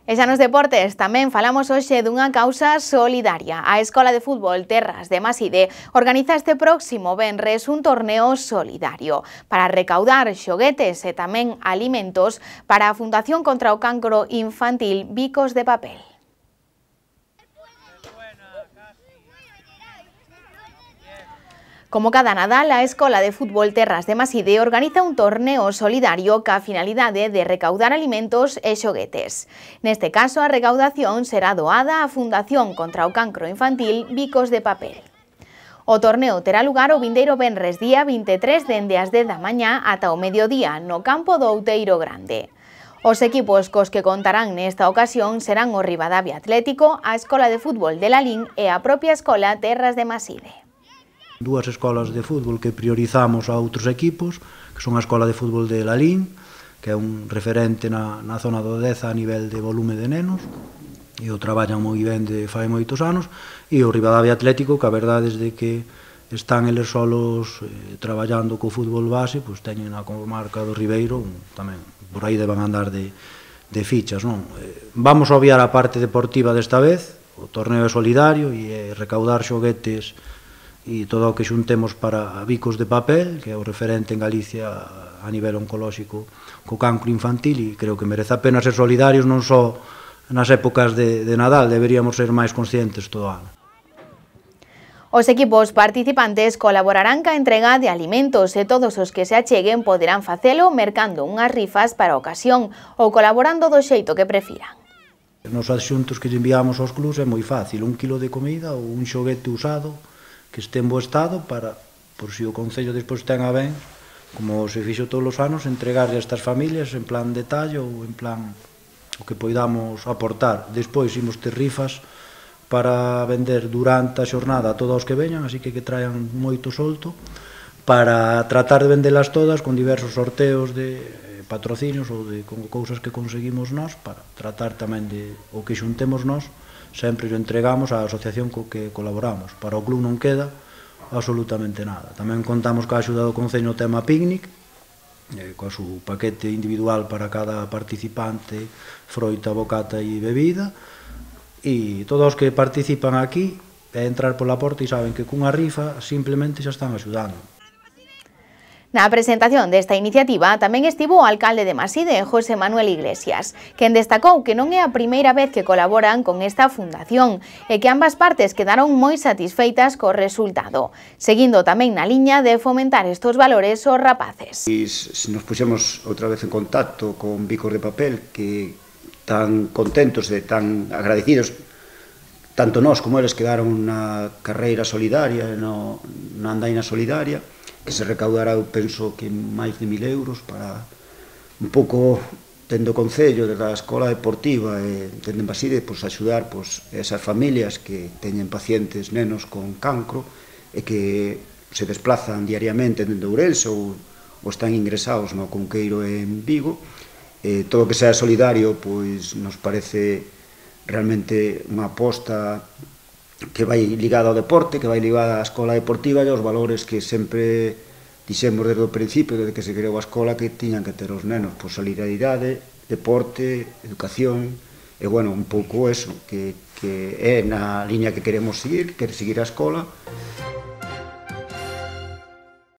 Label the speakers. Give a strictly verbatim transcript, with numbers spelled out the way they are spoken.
Speaker 1: E xa nos deportes tamén falamos hoxe dunha causa solidaria. A Escola de Fútbol Terras de Maside organiza este próximo venres un torneo solidario para recaudar xoguetes e tamén alimentos para a Fundación contra o Cancro Infantil Bicos de Papel. Como cada Nadal, a Escola de Fútbol Terras de Maside organiza un torneo solidario ca finalidade de recaudar alimentos e xoguetes. Neste caso, a recaudación será doada á Fundación contra o Cancro Infantil Bicos de Papel. O torneo terá lugar o vindeiro venres día vinte e tres dende as dez da mañá ata o mediodía no campo do Outeiro Grande. Os equipos cos que contarán nesta ocasión serán o Ribadavia Atlético, a Escola de Fútbol de Lalín e a propia Escola Terras de Maside.
Speaker 2: Dúas escolas de fútbol que priorizamos a outros equipos, que son a Escola de Fútbol de Lalín, que é un referente na, na zona do Deza a nivel de volume de nenos, e o traballan moi ben de fai moitos anos, e o Ribadavia Atlético, que a verdade é que están eles solos eh, traballando co fútbol base, pois teñen a comarca do Ribeiro, tamén por aí deban andar de, de fichas, non? Eh, vamos a obviar a parte deportiva desta vez, o torneo é solidario e é recaudar xoguetes e todo o que xuntemos para Bicos de Papel, que é o referente en Galicia a nivel oncolóxico co cancro infantil, e creo que merece a pena ser solidarios non só nas épocas de, de Nadal, deberíamos ser máis conscientes todo o ano.
Speaker 1: Os equipos participantes colaborarán ca entrega de alimentos e todos os que se acheguen poderán facelo mercando unhas rifas para a ocasión ou colaborando do xeito que prefiran.
Speaker 2: Nos adxuntos que lle enviamos aos clubs é moi fácil, un kilo de comida ou un xoguete usado que este en bo estado para, por si o Concello despois ten a ben, como se fixo todos os anos, entregarle a estas familias en plan detalle ou en plan o que poidamos aportar. Despois imos ter rifas para vender durante a xornada a todos os que veñan, así que que traian moito solto, para tratar de vendelas todas con diversos sorteos de patrocinios ou de con cousas que conseguimos nós, para tratar tamén de o que xuntemos nós, sempre o entregamos á asociación co que colaboramos. Para o club non queda absolutamente nada. Tamén contamos ca axuda do Concello no tema picnic, eh, coa su paquete individual para cada participante, froita, bocata e bebida, e todos os que participan aquí é entrar pola porta e saben que cunha rifa simplemente xa están axudando.
Speaker 1: Na presentación desta iniciativa tamén estivo o alcalde de Maside, José Manuel Iglesias, quen destacou que non é a primeira vez que colaboran con esta fundación e que ambas partes quedaron moi satisfeitas co resultado, seguindo tamén na liña de fomentar estos valores aos rapaces.
Speaker 3: E se nos puxemos outra vez en contacto con Bicos de Papel, que tan contentos e tan agradecidos, tanto nós como eles quedaron na carreira solidaria, no, na andaina solidaria, que se recaudará, eu penso que máis de mil euros para un pouco tendo o Concello da Escola Deportiva e tendo en Maside, pois, axudar pois, esas familias que teñen pacientes nenos con cancro e que se desplazan diariamente dende Ourense ou, ou están ingresados no Cunqueiro en Vigo. E todo o que sea solidario pois, nos parece realmente unha aposta que vai ligada ao deporte, que vai ligada á escola deportiva e aos valores que sempre dixemos desde o principio, desde que se creou a escola, que tiñan que ter os nenos, por solidaridade, deporte, educación, e, bueno, un pouco eso, que, que é na liña que queremos seguir, que quere seguir a escola.